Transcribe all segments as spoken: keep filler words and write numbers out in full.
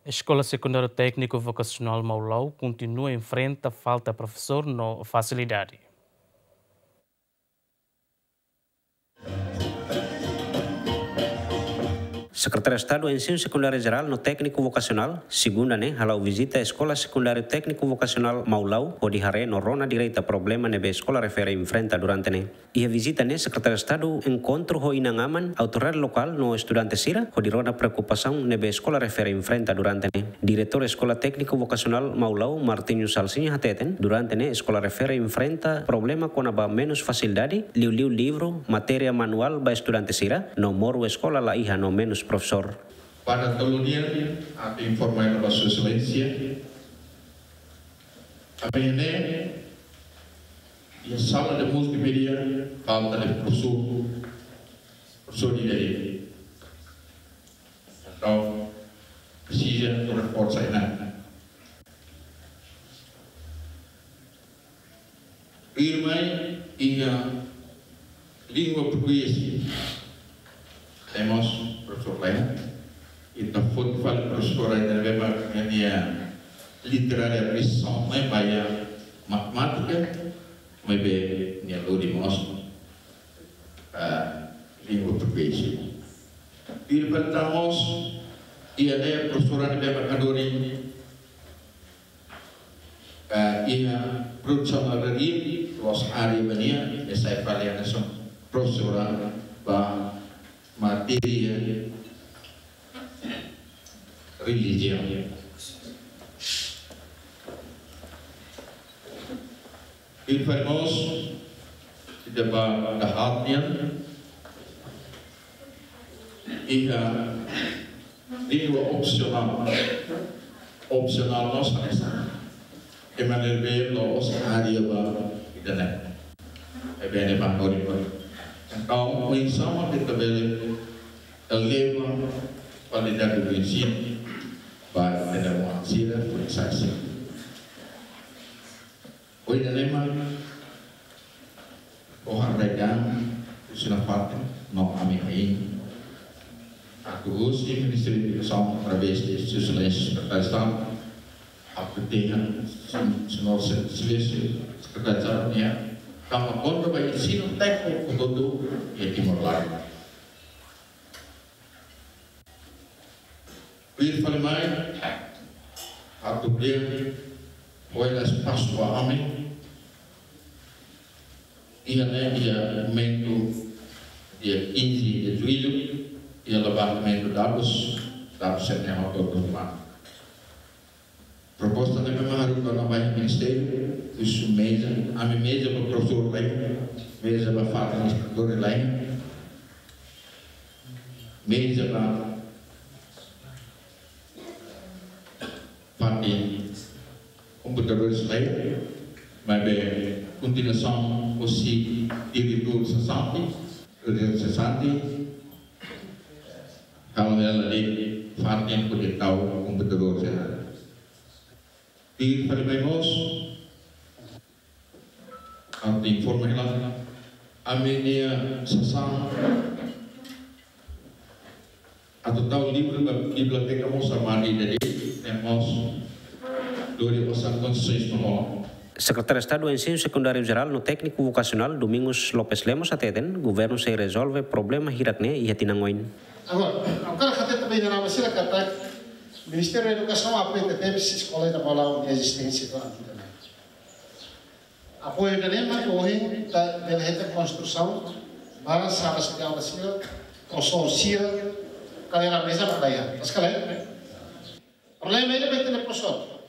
Eskola Sekundáriu Tékniku Vokasionál Maulau kontinua enfrenta falta profesór no fasilidade. Sekretáriu Estadu Ensinu Sekundáriu Jerál no Tékniku Vokasionál, segunda ne'e, hala'o vizita Eskola Sekundáriu Tékniku Vokasionál Maulau, hodi haree no rona direta problema ne'ebé eskola refere enfrenta durante ne'e. Iha vizita ne'e, Sekretáriu Estadu enkontru ho inan-aman, autoridade lokál no estudante sira, hodi rona preokupasaun ne'ebé eskola refere enfrenta durante ne'e. Diretór Eskola Tékniku Vokasionál Maulau, Martinho Salsinha hateten, durante ne'e eskola refere enfrenta problema kona-ba menus fasilidade, liuliu livru, matéria manuál ba estudante sira, no moru eskola la iha no menus profesór. Para tolu nian, atu informa ba Sua Exelénsia, ami hatene iha sala de multimédia falta de profesór, profesór ida de'it. Entaun, presiza atu reforsa ona. Tuirmai iha língua portugés. Temos profesór lain. Ita foti fali profesór ida ne'ebé mak nia literária missão mai ba iha matemátika, maibé nia lori mós, ah, língua portugés. Tuir fali tan mós iha ne'e profesór ne'ebé mak hanorin, eh, iha produsaun agraria, la'ós área ba nia, nia sai fali hanesan profesór ba matéria relijiaun. Tuir fali mós, ita ba dahaat nian, iha língua opsionál. Opsionál mós hanesan. Ema ne'ebé la'ós área ba ida-ne'e. Ne'ebé ne'e ba hanorin. Entaun, oinsá mak ita bele eleva kualidade ensinu ba ita-nia oan sira, oinsá sira. Ohin ne'e mak, ha'u haree dehan, husi nafatin, no ami hein atu husu Ministériu Edukasaun através de Sua Exelénsia Sekretáriu Estadu, atu dehan, sen-, señór Se-, Exelénsia Sekretáriu Estadu nian, tanba konta ba ensinu tékniku hotu-hotu iha Timor-Leste. Tuir fali mai, atu bele fó hela espasu ba ami, iha ne'e iha momentu dia quinze de julho, iha levantamentu dadus, dadus sira-ne'e hotu-hotu mai. Proposta ne'ebé mak haruka ona ba iha ministériu, husu meza, ami meza ba profesór lain, meza ba fatin instrutór lain, meza ba fatin komputadór lain, maibé kontinuasaun husi diretór sesante, diretór sesante, halo hela de'it fatin hodi tau komputadór sira. Tuir fali mai mós, atu informa hela, ami-nia sasán atu tau livru ba biblioteka mós armadu ida de'it, ne'e mós lori osan konseis ba hola. Sekretáriu Estadu Ensinu Sekundáriu Jerál no Tékniku Vokasionál, Domingos Lopes Lemos hateten, governu sei rezolve problema hirak-ne'e iha tinan oin. Agora, agora hateten ba inan-aman sira katak Ministériu Edukasaun apoia tebes eskola ida Maulau nia ezisténsia durante ida-ne'e. Apoiu ida-ne'e mak ohin ita bele hetan konstrusaun ba sala de aula sira, profesór sira, kadeira meza ba iha. Mas kala, problema ida mak iha profesór.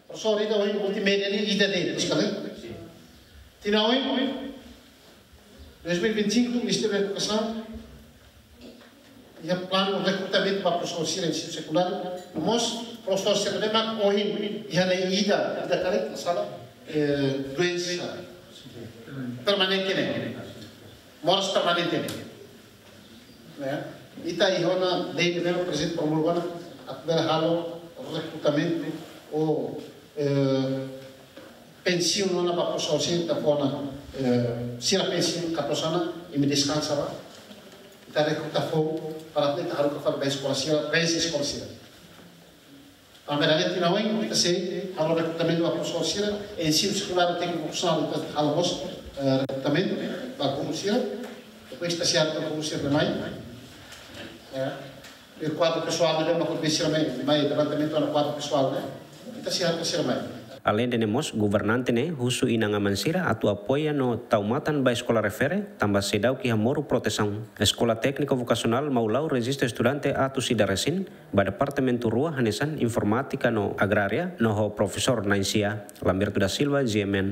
Profesór ida ohin multimédia ne'e ida de'it, mas kala. Tinan oin, dois mil e vinte e cinco, Ministériu Edukasaun iha planu rekrutamentu ba profesór sira ensinu sekundáriu, mós profesór sira ne'ebé mak ohin iha ne'e ida, ida karik, masalah, eh, doensa permanente ne'e. Moras permanente ne'e. Ne'e. Ita iha ona lei ne'ebé mak Prezidente promulga ona, atu bele halo rekrutamentu ou, eh, pensiun ona ba profesór sira ita fó ona, eh, sira pensiun katorze ona, imi deskansa ba. Ita rekruta foun para ita haruka fali ba eskola sira, ba eskola sira. Tanba ne'e tinan oin ita sei halo rekrutamentu ba profesór sira, ensinu sekundáriu tékniku vokasionál ita halo mós, eh, rekrutamentu ba guru sira, depois ita sei halo guru sira mai. Ya. E kuadru pesoál ne'e mak ita sei mai, mai levantamentu ona kuadru pesoál ne'e. Ita sei halo sira mai. Aleinde ne'e mós, governante ne'e husu inan-aman sira atu apoia no tau matan ba eskola refere, tanba seidauk iha moru protesaun. Eskola Tékniku Vokasionál Maulao rejista estudante atus ida resin ba departamentu rua hanesan informátika no agrária, no ho profesór na'in-sia. Lamberto da Silva, G M N.